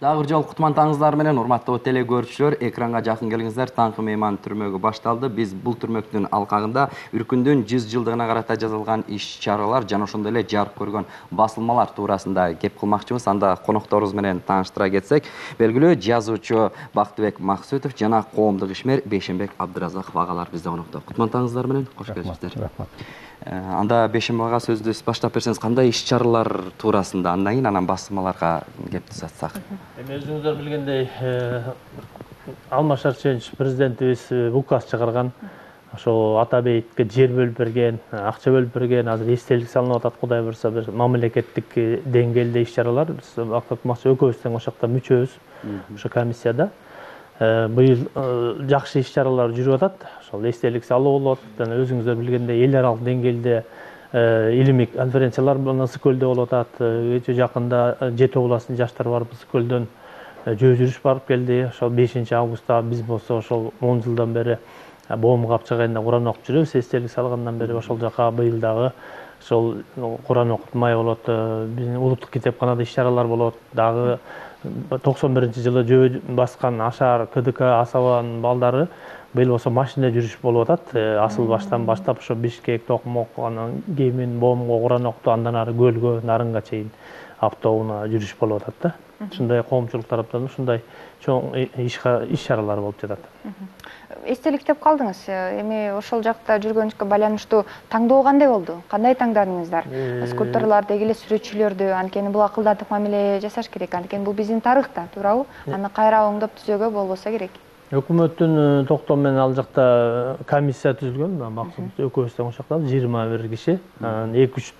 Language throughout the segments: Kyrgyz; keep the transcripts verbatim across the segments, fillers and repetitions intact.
Дагы бир жолу кутмандыгыңыздар менен урматтуу теле көрүүчүлөр, экранга жакын келиңиздер. Таңкы мейман түрмөгү башталды. Биз бул түрмөктүн алкагында Үркүндүн жүз жылдыгына карата жасалган иш-чаралар жана ошондой эле жарык көргөн басылмалар туурасында кеп кылмакчыбыз. Анда конокторубуз менен тааныштыра кетсек, белгилүү жазуучу Бактыбек Максутов жана коомдук ишмер Бейшенбек Абдыразаков агалар бизде конокто. Кутмандыгыңыздар менен кош келипсиздер. Анда Бейшенбек ага сөздү баштап берсеңиз, кандай иш-чаралар туурасында, андан кийин анан басылмаларга кеп тузатсак. Эми өзүңүздөр билгендей, Алмаз Шарипович президентибиз указ чыгарган. Ошо Атабейтке жер бөлүп берген, акча бөлүп берген, азыр эстелик салынып атат. Кудай буюрса, бир мамлекеттик деңгээлде иш-чаралар. Биз Бактыбек Максутов экөөбүз тең ошол жакта мүчөбүз, ошо комиссияда. Быйыл жакшы иш-чаралар жүрүп атат. Ошол эстелик салуу болот. Жана өзүңүздөр билгендей, эл аралык деңгээлде илимий конференциялар Ысык көлдө болуп атат. Өтө жакында жети областын жаштары барып Ысык көлдөн жөө жүрүш барып келди. Ошол бешинчи августта биз болсо ошол он жылдан бери Боом Капчак айында Куран окуп жүрөбүз. Эстелик салгандан бери ошол жака быйыл дагы ошол Куран окутмай болот. Биздин улуттук китепканада иш-чаралар болот. Дагы токсон биринчи жылы жөө баскан Ашар, КДК, Асабанын балдары быйыл болсо машина жүрүш болуп атат. Асыл баштан баштап ошо Бишкек, Токмок, анан Кемин, Боомго Куран окуту, андан ары Көлгө, Нарынга чейин автоунаа жүрүш болуп атат да. Ушундай коомчулук тараптан ушундай чоң иш-чаралар болуп жатат. Эстелик деп калдыңыз. Эми ошол жакта жүргөнүзгө байланыштуу таңдоо кандай болду? Кандай таңдадыңыздар? Скульпторлор деги эле сүрөтчүлөрдү, анткени бул акылдатып мамиле жасаш керек. Анткени бул биздин тарыхта, туурабы? Аны кайра оңдоп түзөөгө болбосо керек. Өкмөттүн токтому менен ал жакта комиссия түзүлгөн. Максат экөөбүз тең ошол жакта жыйырма бир киши. эки үч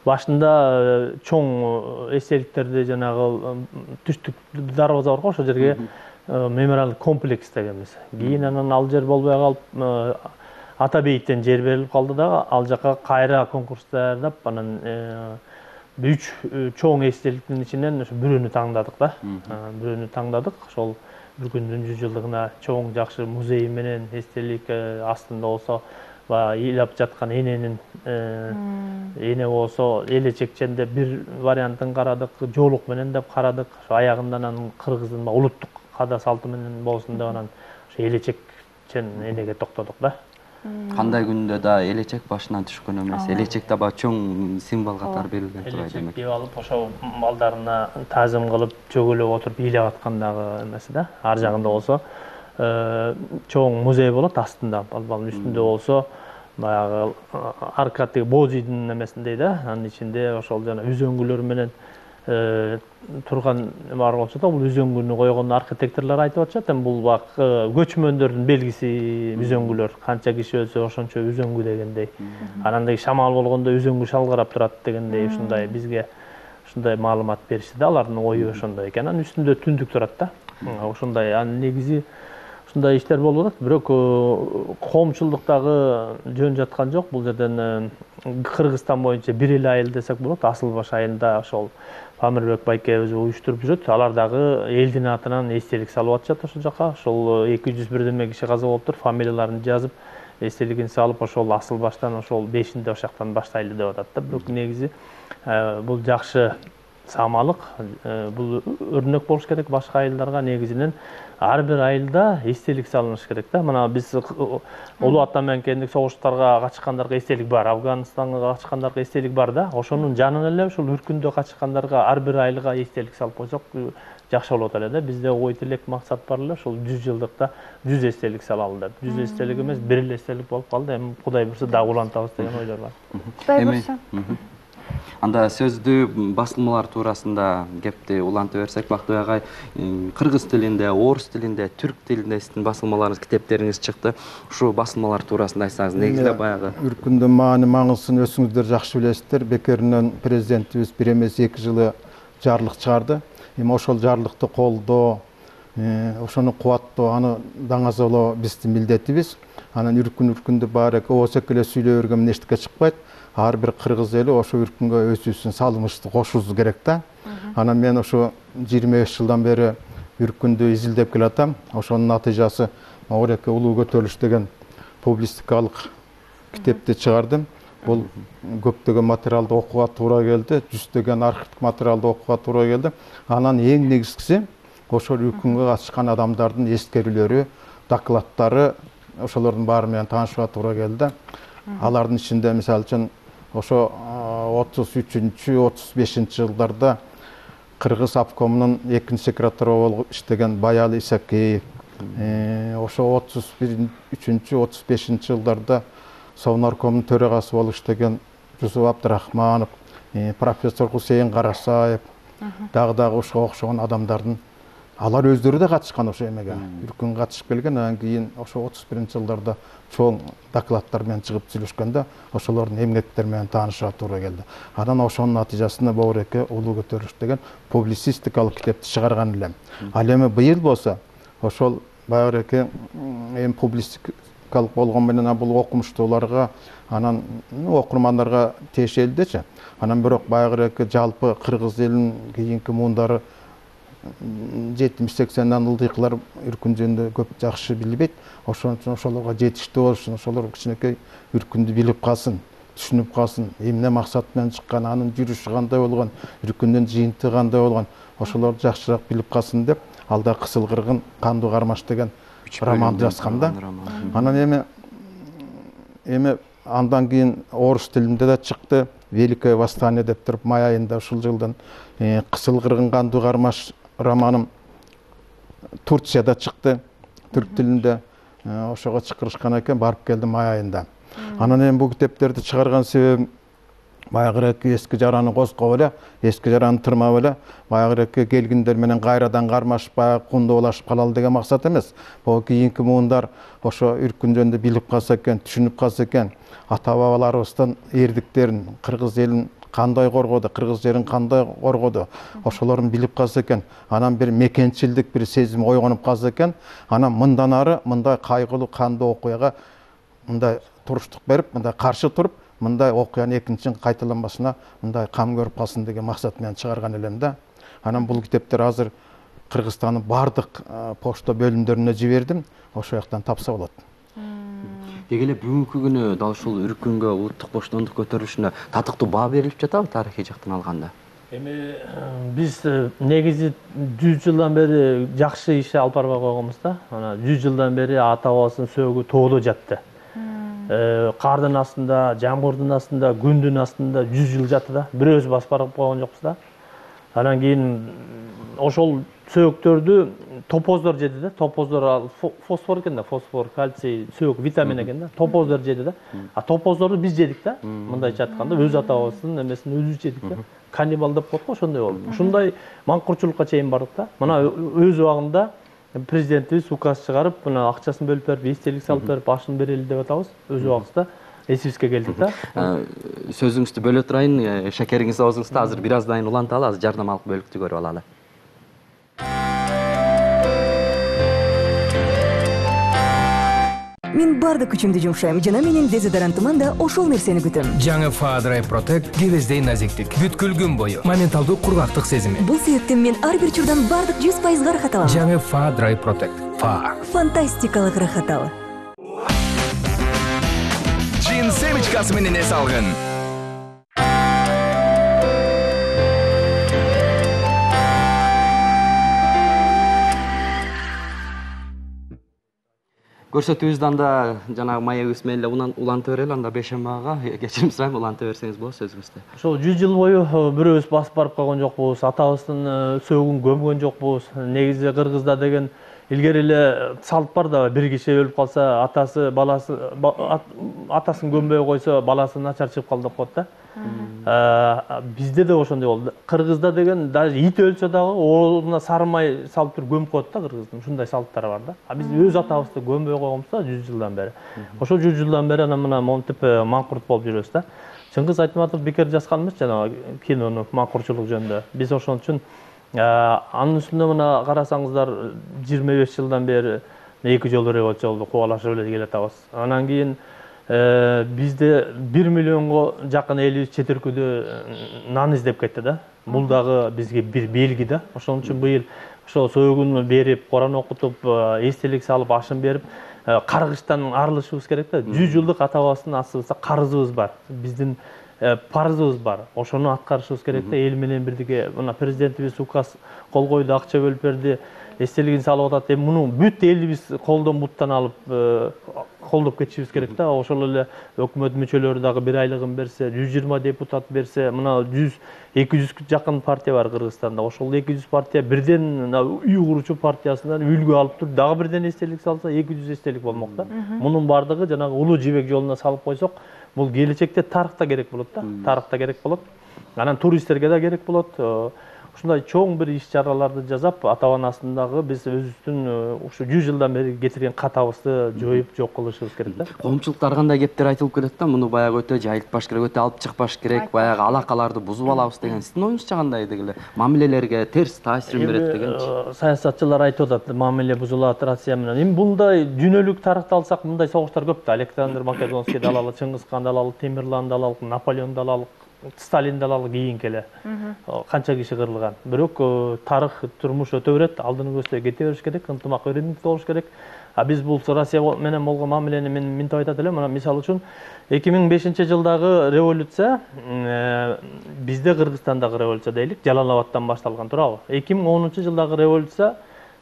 башында чоң эстеликтерди жанагы түштүк дарбаза бар го, ошол жерге мемориалдык комплекс дегенбиз. Кийин анан ал жер болбой калып, Атабейттен жер берилип калды да, ал жака кайра конкурс даярдап, анан үч чоң эстеликтин ичинен ошо бирөөнү таңдадык да. Бирөөнү таңдадык. Ошол Үркүндүн жүз жылдыгына чоң жакшы музей менен эстелик астында болсо ыйлап жаткан эненин эне болсо элечекченде бир вариантын карадык, жоолук менен деп карадык. Ошо аягында анан кыргыздын улуттук када салты менен болсун деп анан ошо элечекчен энеге токтодук да. Кандай күндө да элечек башынан түшкөн эмес. Элечек да баа чоң символ катары берилген турат демек. Элечек алып ошо балдарына таазим кылып, чөгөлөп отуруп ыйлап аткандагы эмеси да. Ар жагында болсо чоң музей болот астында, балбалдын үстүндө болсо баягы аркадый Божийдин эмесиндей да. Анын ичинде ошол жана үзөңгүлөр менен турган бар болчу да. Бул үзөңгүнү койгон архитекторлор айтып атышат. Эми бул бак көчмөндөрдүн белгиси үзөңгүлөр. Канча киши өлсө ошончо үзөңгү дегендей. Анан деги шамал болгондо үзөңгү шалгарап турат дегендей ушундай бизге ушундай маалымат беришти да. Алардын ою ошондой экен. Анан үстүндө түндүк турат да. Ошондой анын негизи ушундай иштер болуп атат. Бирок коомчулуктагы жөн жаткан жок. Бул жерден Кыргызстан боюнча бир эле айыл десек болот. Асыл баш айылында ошол Памирбек байкебиз уюштуруп жүрөт. Алар дагы элдин атынан эстелик салып атышат ошол жака. Ошол эки жүз бирдеме киши каза болуптур. Фамилияларын жазып, эстелигин салып, ошол асыл баштан ошол бешинде ошол жактан баштайлы деп атат да. Бирок негизи бул жакшы саамалык. Бул өрнөк болуш керек башка айылдарга. Негизинен ар бир айылда эстелик салыныш керек да. Мына биз Улуу Ата менен согуштарга качкандарга эстелик бар, Афганистанга качкандарга эстелик бар да. Ошонун жанына эле ушул Үркүндө качкандарга ар бир айылга эстелик салып койсок жакшы болот эле да. Бизде ой тилек максат бар эле, ушул жүз жылдыкта жүз эстелик салалы деп. жүз эстелик эмес, бир эле эстелик болуп калды. Эми Кудай буйрса дагы улантабыз деген ойлор бар. Кудай буйрса. Анда сөздү басылмалар туурасында кепти улантып берсек, Бактыбек агай, кыргыз тилинде, орус тилинде, түрк тилинде сиздин басылмаларыңыз, китептериңиз чыкты. Ушу басылмалар туурасында айтсаңыз, негизде баягы Үркүндүн маани маңызын өзүңүздөр жакшы билесиздер. Бекеринен президентибиз бир эмес эки жылы жарлык чыгарды. Эми ошол жарлыкты колдоо, ошону кубаттоо, аны даңазалоо биздин милдетибиз. Анан Үркүн Үркүндү баары оозек эле сүйлөй берген менен эчтеке чыкпайт. Ар бир кыргыз эли ошо Үркүнгө өзүбүздүн салымыбызды кошуубуз керек да. Анан мен ошо жыйырма беш жылдан бери Үркүндү изилдеп келатам. Ошонун натыйжасы Оореке улуу көтөрүлүш деген публистикалык китепти чыгардым. Бул көптөгөн материалды окууга туура келди, жүздөгөн архивдик материалды окууга туура келди. Анан эң негизгиси ошол үркүнгө катышкан адамдардын эскерүүлөрү, докладдары ошолордун баары менен таанышууга туура келди. Алардын ичинде мисалы үчүн ошо отуз үчүнчү отуз бешинчи жылдарда Кыргыз обкомунун экинчи секретары болуп иштеген Баял Исакеев, ошо отуз үчүнчү отуз бешинчи жылдарда Совнаркомдун төрагасы болуп иштеген Жусуп Абдрахманов, профессор Хусейин Карасаев, дагы дагы ошого окшогон адамдардын алар өздөрү да катышкан ошо эмеге. Үркүнгө катышып келген, анан кийин ошо отуз биринчи жылдарда чоң докладдар менен чыгып сүйлөшкөндө ошолордун эмгектери менен таанышууга туура келди. Анан ошонун натыйжасында Бобуреке улуу көтөрүлүш деген публицистикалык китепти чыгарган элем. Ал эми быйыл болсо ошол Бобуреке эми публицистикалык болгон менен бул окумуштууларга, анан окурмандарга тиешелдичи. Анан бирок Бобуреке жалпы кыргыз элинин кийинки муундары жетимиш сексенден ылдыйкылар үркүн жөнүндө көп жакшы билбейт. Ошон үчүн ошолорго жетиштүү болушун, ошолор кичинекей үркүндү билип калсын, түшүнүп калсын, эмне максат менен чыккан, анын жүрүшү кандай болгон, үркүндүн жыйынтыгы кандай болгон, ошолорду жакшыраак билип калсын деп, алда Кысыл кыргын Кандуу кармаш деген романды жазгам да. Анан эми эми андан кийин орус тилинде да чыкты. Великое восстание деп туруп май айында ушул жылдын Кысыл кыргын Кандуу кармаш романым Турцияда чыкты, түрк тилинде. Ошого чакырышкан экен, барып келдим май айында. Анан эми бул китептерди чыгарган себебим баягыраки эски жараны козкоп эле, эски жараны тырмап эле, баягыраки келгиндер менен кайрадан кармашып, баягы кундоолашып калалы деген максат эмес. Бул кийинки муундар ошо үркүн жөнүндө билип калса экен, түшүнүп калса экен, ата бабаларыбыздын эрдиктерин, кыргыз элин кандай коргоду, кыргыз жерин кандай коргоду, ошолорун билип калса экен, анан бир мекенчилдик бир сезим ойгонуп калса экен, анан мындан ары мындай кайгылуу кандуу окуяга мындай туруштук берип, мындай каршы туруп, мындай окуянын экинчи кайталанбасына мындай кам көрүп калсын деген максат менен чыгарган элем да. Анан бул китептер азыр Кыргызстандын бардык почта бөлүмдөрүнө жибердим, ошол жактан тапса болот. Деги эле бүгүнкү күнү дал ушул үркүнгө, улуттук боштондук көтөрүлүшүнө татыктуу баа берилип жатабы тарыхый жактан алганда? Эми биз негизи жүз жылдан бери жакшы иш алып барбай койгонбуз да. Анан жүз жылдан бери ата бабасынын сөөгү тооло жатты. Кардын астында, жамгырдын астында, күндүн астында жүз жыл жатты да. Бирөөбүз басып барып койгон жокпуз да. Анан кийин ошол сөөгтөрдү топоздор жеди да. Топоздор фосфор экен да, фосфор, кальций, сөök, витамин экен да. Топоздор жеди да. А топоздорду биз жедик да. Мындайча айтканда өз ата бабасынын эмесин өзүбүз жедик да. Каннибал деп коет го, ошондой болду. Ушундай маңкурчулукка чейин бардык да. Мына өз убагында президентибиз указ чыгарып, мына акчасын бөлүп берип, эстелик салып берип, башын берели деп атабыз. Өз убагыбызда эсибизге келдик да. Сөзүңүздү бөлө турайын, шекериңиз оозуңузда, азыр бир аздан уланталы, азыр жардамалык бөлүктү көрүп алалы. Мен бардык күчүмдү жумшайм, жана менин дезодорантыман да ошол нерсени күтөм. Жаңы Fadray Protect кебездей назиктик, бүткүл күн бою моменталдуу кургактык сезими. Бул себептен мен ар бир учурдан бардык жүз пайызга ырахат алам. Жаңы Fadray Protect. Fa. Фантастикалык ырахат ал. Чин семечкасы менен эс алгын. Көрсөтүүбүздөн да жанагы маегибиз менен эле улантып берели, анда Бейшембага кечирим сурайм, улантып берсеңиз болот сөзүңүздү. Ошол жүз жыл бою бирөөбүз басып барып койгон жокпуз, атабыздын сөөгүн көмгөн жокпуз. Негизи кыргызда деген илгери эле салт бар да, бир киши өлүп калса, атасы, баласы, атасын көмбөй койсо, баласы начар чыгып калды деп коет да. Бизде да ошондой болду. Кыргызда деген даже ит өлсө дагы ордуна сары май салып туруп көмүп коет да, кыргыздын. Ушундай салттары бар да. А биз өз атабызды көмбөй койгонбуз да жүз жылдан бери. Ошол жүз жылдан бери анан мына монтип маңкурт болуп жүрөбүз да. Чыңгыз Айтматов бекер жазган эмес жанагы кинону маңкурчулук жөнүндө. Биз ошон үчүн анын үстүнө мына карасаңыздар жыйырма беш жылдан бери эки жолу революцияларды кубалашып эле келатабыз. Анан кийин бизде бир миллионго жакын элибиз чет өлкөдө нан издеп кетти да. Бул дагы бизге бир белги да. Ошон үчүн быйыл ошо сөөгүн берип, Куран окутуп, эстелик салып, ашын берип, каргыштан арылышыбыз керек да. жүз жылдык ата бабасынын астыбызда карызыбыз бар. Биздин парызыбыз бар. Ошону аткарышыбыз керек да, эл менен бирдиге. Мына президентибиз указ кол койду, акча бөлүп берди. Эстелигин салып атат. Эми муну бүт элибиз колдон буттан алып колдоп кетишибиз керек да. Ошол эле өкмөт мүчөлөрү дагы бир айлыгын берсе, жүз жыйырма депутат берсе, мына жүз эки жүзгө жакын партия бар Кыргызстанда. Ошол эки жүз партия бирден үй куручу партиясынан үлгү алып туруп, дагы бирден эстелик салса, эки жүз эстелик болмок да. Мунун бардыгы жанагы улуу жибек жолуна салып койсок, бул келечекте тарыхта керек болот да. Тарыхта керек болот. Анан туристтерге да керек болот. Ушундай чоң бир иш-чараларды жасап, ата-анасындагы биз өзүбүздүн ушу жүз жылдан бери кетирген катабызды жоюп жок кылышыбыз керек да. Коомчулукта ар кандай кептер айтылып келет да, муну баягы өтө жайылтпаш керек, өтө алып чыкпаш керек, баягы алакаларды бузуп алабыз деген. Сиздин оюңузча кандай дегиле? Мамилелерге терс таасирин берет дегенчи. Саясатчылар айтып атат, мамиле бузулат Россия менен. Эми мындай дүйнөлүк тарыхты алсак, мындай согуштар көп да. Александр Македонскийди алалы, Чыңгызханды алалы, Темирланды алалы, Наполеонду алалы, Сталинди алалы, кийинки эле канча киши кырылган. Бирок тарых, турмуш өтө берет, алдыны көздөй кете бериш керек, ынтымак өрүнүктүү болуш керек. А биз бул Россия менен болгон мамилени мен минтип айтат элем. Мына мисалы үчүн эки миң бешинчи жылдагы революция бизде Кыргызстандагы революция дейлик, Жалал-Абадтан башталган, туурабы? эки миң онунчу жылдагы революция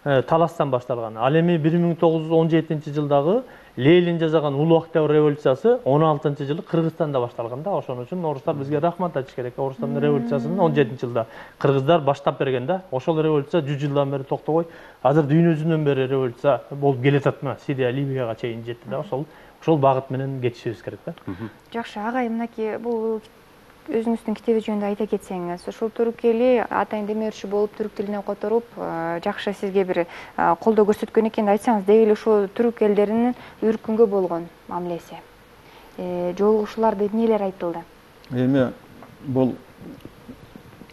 Таластан башталган. Ал эми бир миң тогуз жүз он жетинчи жылдагы Ленин жасаган Улуу Октябрь революциясы он алтынчы жылы Кыргызстанда башталган да. Ошон үчүн орустар бизге рахмат айтыш керек. Орустардын революциясын он жетинчи жылда кыргыздар баштап берген да. Ошол революция жүз жылдан бери токтобой, азыр дүйнө жүзүнөн бери революция болуп келатат. Сирия, Ливияга чейин жетти да. Ошол ошол багыт менен кетишибиз керек да. Жакшы, агай, мынакей бул өзүңүздүн китеби жөнүндө айта кетсеңиз, ушул түрк эли атайын демөөрчү болуп, түрк тилине которуп, жакшы сизге бир колдоо көрсөткөн экен да, айтсаңыз, деги ушул түрк элдеринин үркүнгө болгон мамилеси, жолугушууларды эмнелер айтылды? Эми бул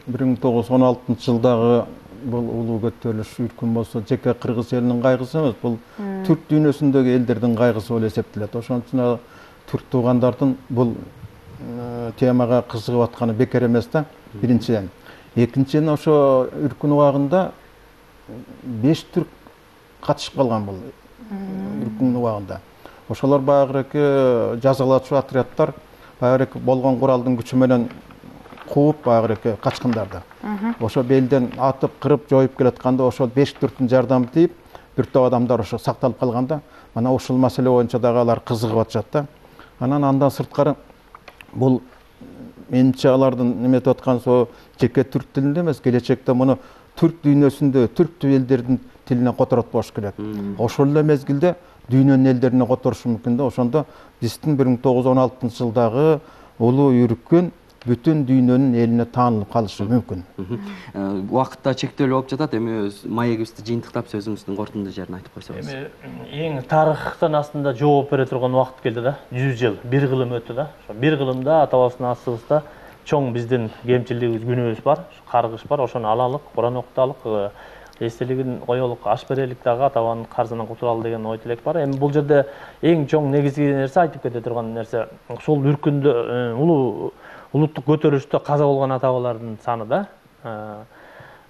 бир миң тогуз жүз он алтынчы жылдагы бул улуу көтөрүлүш үркүн болсо, жеке кыргыз элинин кайгысы эмес, бул түрк дүйнөсүндөгү элдердин кайгысы болуп эсептелет. Ошон үчүн түрк туугандардын бул темага кызыгып атканы бекер эмес да, биринчиден. Экинчиден, ошо үркүн убагында беш түрк катышып калган бул үркүн убагында. Ошолор баягы жазалачу отрядтар баягы болгон куралдын күчү менен кууп баягы качкындарды. Ошо белден атып, кырып, жоюп келатканда ошол беш түрктүн жардамы тийип, бир топ адамдар ошо сакталып калганда, мана ушул маселе боюнча дагы алар кызыгып атышат да. Анан андан сырткары бул менимче алардын неметип аткан со жеке түрк тилинде эмес, келечекте муну түрк дүйнөсүндө түрк элдердин тилине которот болуш керек. Ошол эле мезгилде дүйнөнүн элдерине которушу мүмкүн да. Ошондо биздин бир миң тогуз жүз он алтынчы жылдагы улуу үркүн бүтүн дүйнөнүн элине таанылып калышы мүмкүн. Убакытта чектелүү болуп жатат. Эми маегибизди жыйынтыктап сөзүңүздүн корутунду жерин айтып койсоңуз. Эми эң тарыхтан астында жооп бере турган убакыт келди да. жүз жыл, бир кылым өттү да. Ошо бир кылымда атабыздын астыбызда чоң биздин кемчилигибиз, күнөөбүз бар, каргыш бар. Ошону алалык, Куран окуталык, эстелигин коелук, аш берелик дагы, атабанын карзынан кутулалы деген ой тилек бар. Эми бул жерде эң чоң негизги нерсе, айтып кете турган нерсе, ушул үркүндө улуу улуттук көтөрүлүштө каза болгон ата-бабалардын саны да.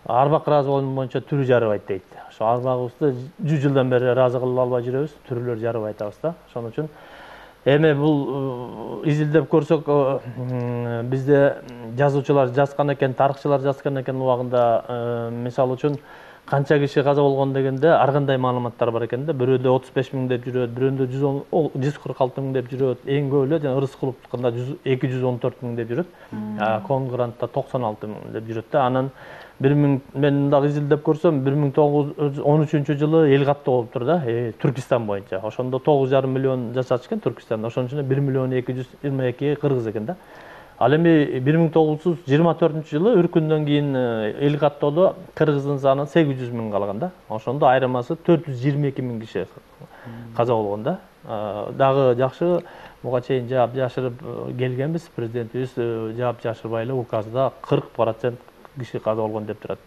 Арбак ыраазы боюнча түрү жарыбайт дейт. Ошо арбагыбызды жүз жылдан бери ыраазы кылып албай жүрөбүз, түрүлөр жарыбай атабыз да. Ошон үчүн эми бул изилдеп көрсөк, бизде жазуучулар жазган экен, тарыхчылар жазган экен убагында, мисалы үчүн канча киши каза болгон дегенде ар кандай маалыматтар бар экен да. Бирөөдө отуз беш миң деп жүрөт, бирөөндө жүз кырк алты миң деп жүрөт. Эң көп эле жана Рыскуловдукунда эки жүз он төрт миң деп жүрөт. Конгрантта токсон алты миң деп жүрөт да. Анан бир миң мен дагы изилдеп көрсөм, бир миң тогуз жүз он үчүнчү жылы эл каттоо болуптур да, Түркистан боюнча. Ошондо тогуз жарым миллион жашачу экен Түркистанда. Ошонун ичинде бир миллион эки жүз жыйырма эки кыргыз экен да. Ал эми бир миң тогуз жүз жыйырма төртүнчү жылы үркүндөн кийин эл каттоодо кыргыздын саны сегиз жүз миң калган да. Ошондо айырмасы төрт жүз жыйырма эки миң киши каза болгон да. Дагы жакшы буга чейин жаап жашырып келгенбиз, президентибиз жаап жашырбай эле указда кырк процент киши каза болгон деп турат.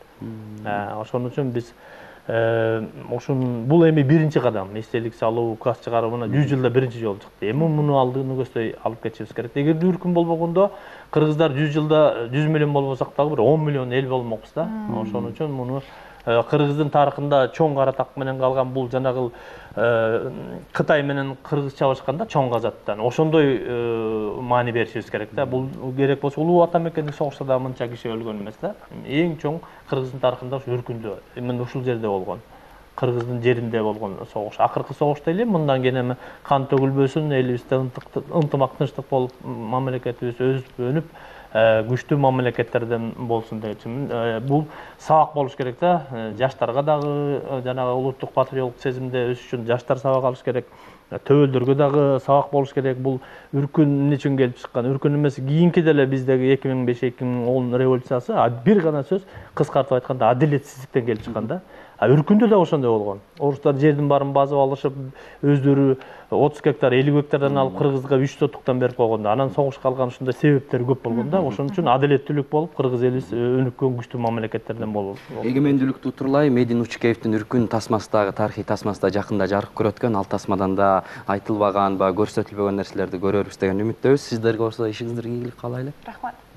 Ошон үчүн биз ошун бул эми биринчи кадам, эстелик салуу, указ чыгаруу мына жүз жылда биринчи жолу чыкты. Эми муну алдыны көздөй алып кетишибиз керек. Эгерде үркүн болбогондо кыргыздар жүз жылда жүз миллион болбосак дагы бир он миллион эл болмокпуз да. Ошон үчүн муну Кыргыздын тарыхында чоң кара так менен калган бул жанагы Кытай менен кыргыз чабышканда чоң казаттан ошондой маани беришибиз керек да. Бул керек болсо улуу ата мекендик согушта да мынча киши өлгөн эмес да. Эң чоң Кыргыздын тарыхында ушу Үркүндө, мына ушул жерде болгон. Кыргыздын жеринде болгон согуш. Акыркы согуш дейли, мындан кийин эми кан төгүлбөсүн, элибизде ынтымак тынчтык болуп, мамлекетибиз өсүп өнүп, күчтүү мамлекеттерден болсун депчимин. Бул сабак болуш керек да. Жаштарга дагы жанагы улуттук патриоттук сезимде өсүш үчүн жаштар сабак алыш керек. Төбөлдөргө дагы сабак болуш керек. Бул Үркүн эмне үчүн келип чыккан? Үркүн эмес, кийинки деле биздеги эки миң беш эки миң он революциясы бир гана сөз, кыскартып айтканда, адилетсиздиктен келип чыккан да. А Үркүндө да ошондой болгон. Орустар жердин баарын басып алышып, өздөрү отуз гектар, элүү гектардан алып кыргызга үч сотуктан берип койгондо, анан согушка алган ушундай себептер көп болгон да. Ошон үчүн адилеттүүлүк болуп, кыргыз элибиз өнүккөн күчтүү мамлекеттерден болуп. Эгемендүүлүктү утурлай Медин Учкеевдин Үркүн тасмасындагы тарыхый тасмасында жакында жарык көрөткөн, ал тасмадан да айтылбаган, ба көрсөтүлбөгөн нерселерди көрөрбүз деген үмүттөбүз. Сиздерге болсо ишиңиздерге ийгилик каалайлы. Рахмат.